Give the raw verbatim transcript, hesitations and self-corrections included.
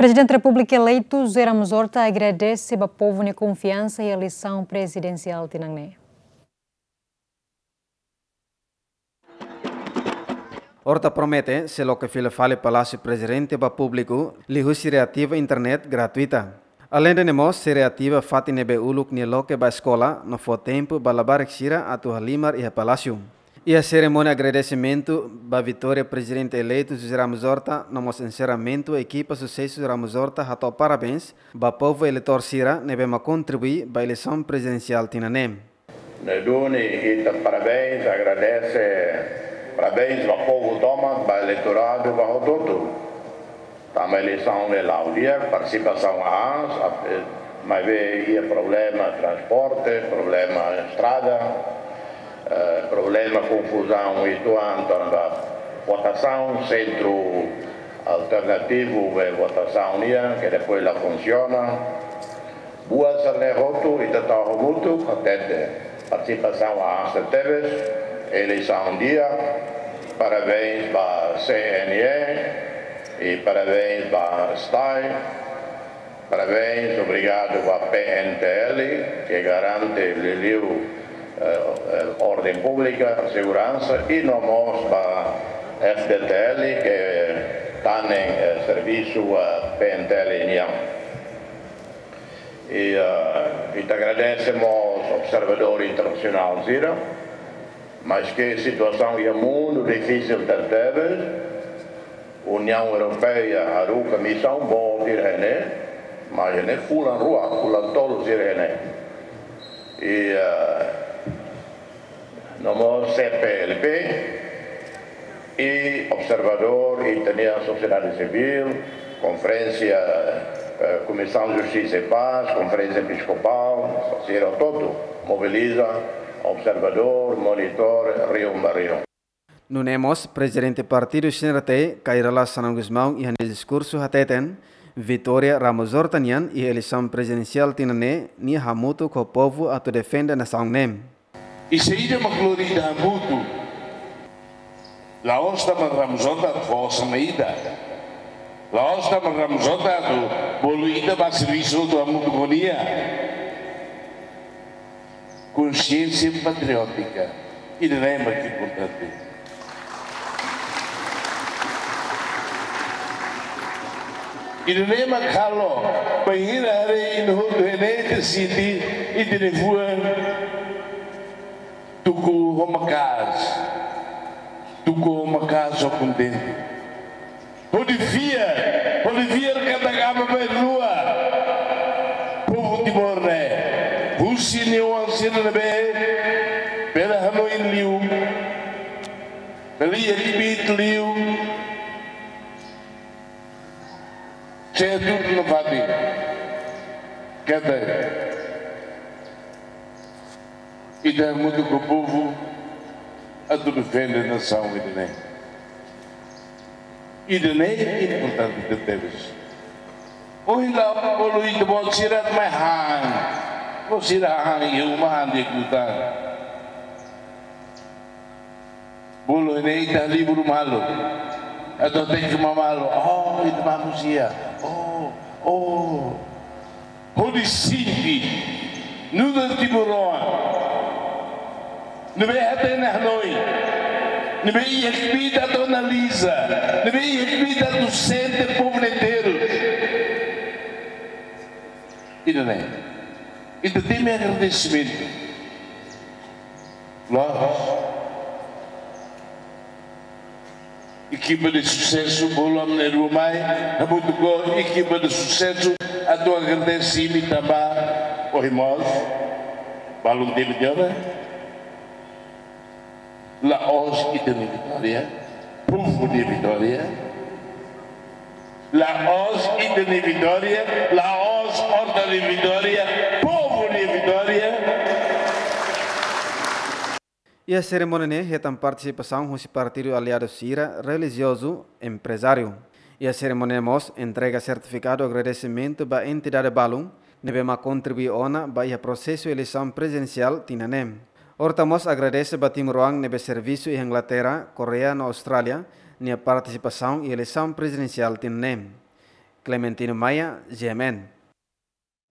Prezidente Repúblika eleitu José Ramos Horta agradese ba povu nia konfiansa iha eleisaun prezidensiál tinan ne'e. Horta promete sei loke fila fali Palásiu Prezidente ba públiku liuhusi reativa internet gratuita. Aleinde ne'e mós sei reativa fatin ne'ebé uluk nia loke ba eskola no fó tempu ba labarik sira atu halimar iha Palásiu. Iha serimónia agradesimentu ba vitória Prezidente eleitu José Ramos Horta no mós enserramentu ekipa susesu Ramos Horta hato'o parabéns ba povu eleitór sira ne'ebé mak kontribui ba eleisaun prezidensiál tinan ne'e. Ne'e duni ita parabéns, agradese, parabéns ba povu tomak, ba eleitoradu, ba hotu-hotu. Tanba eleisaun ne'e la'o di'ak, partisipasaun aas, ap-, eh, maibé iha problema transporte, problema estrada, eh, problema konfuzaun uitoan tanba votasaun, sentru alternativu ba votasaun nian, ke depois la funsiona. Buat sira-ne'e hotu, ita tau hamutuk, hatete. Partisipasaun aas tebes, eleisaun di'ak, parabéns ba C N E, i parabéns ba STAE, parabéns, obrigadu ba P N T L, ke garante liuliu, eh, eh, orden públika, seguransa, i no mós ba F D T L, ke tanen, eh, servisu, eh, P N T L nian. I, ah, ita agradese mós observadór internasionál sira, maske situasaun iha mundu difisil tebetebes, Uniaun Europeia haruka misaun boot sira iha ne'e, mas iha ne'e fulan rua, fulan tolu sira iha ne'e. I, ah, no mós C P L P, i observadór, i ita-nia sosiedade sivíl, konferénsia, eh, Komisaun Justisa i Pás, Konferénsia Episkopál, sira hotu mobiliza observadór, monitór, rihun ba rihun. Nune'e mós, Prezidente Partidu C N R T, Kay Rala Xanana Gusmão, iha nia diskursu hateten, vitória Ramos Horta nian iha eleisaun prezidensiál tinan ne'e, nia hamutuk ho povu atu defende nasaun ne'e. I saida mak lori ita hamutuk? La'ós tanba Ramos Horta fó osan mai ita. La'ós tanba Ramos Horta atu bolu ita ba servisu atu hamutuk ho nia. Konsiénsia patriótika. Ida-ne'e mak importante. Ida-ne'e mak halo, bainhira haree ita hotu iha ne'e ita sente, ita-nia fuan tuku ho maka'as, tuku ho maka'as ho kontente. Hodi fiar, hodi fiar katak aban-bainrua povu Timor ne'e, husi nia oan sira ne'ebé bele hanoin liu, bele iha kbiit liu, sei tuur nafatin. Katak ita hamutuk ho povu atu defende nasaun ida-ne'e. Ida-ne'e importante tebes. Ohin la'o bolu ita-boot sira mai han. Bolu sira han iha uma, han di'ak liután. Bolu ne'e ita halibur malu. Atu hateke malu. Oh, ita manusia. Oh, oh. Hodi sente nu'udar timoroan ne'ebé hatene hanoin, ne'ebé iha kbiit atu analiza, ne'ebé iha kbiit atu sente povu ne'e terus. Ida-ne'e, ita temi agradesimentu. Loos. Ekipa de susesu, bolu ami na'in-rua mai, hamutuk ho ekipa de susesu, atu agradese imi tanba ohin mós balun temi tiha ona. La'ós ita-nia vitória, povu nia vitória. La'ós ita-nia vitória, la'ós Horta nia vitória, povu nia vitória. Iha serimónia ne'e hetan partisipasaun husi partidu aliadu sira, relijiozu, emprezáriu. Iha serimónia ne'e mós entrega sertifikadu agradesimentu ba entidade balun ne'ebé mak kontribui ona ba iha prosesu eleisaun prezidensiál tinan ne'e. Horta mós agradese ba timoroan ne'ebé servisu iha Inglaterra, Koreia no Austrália nia partisipasaun iha eleisaun prezidensiál tinan ne'e. Clementino Maia, G M N.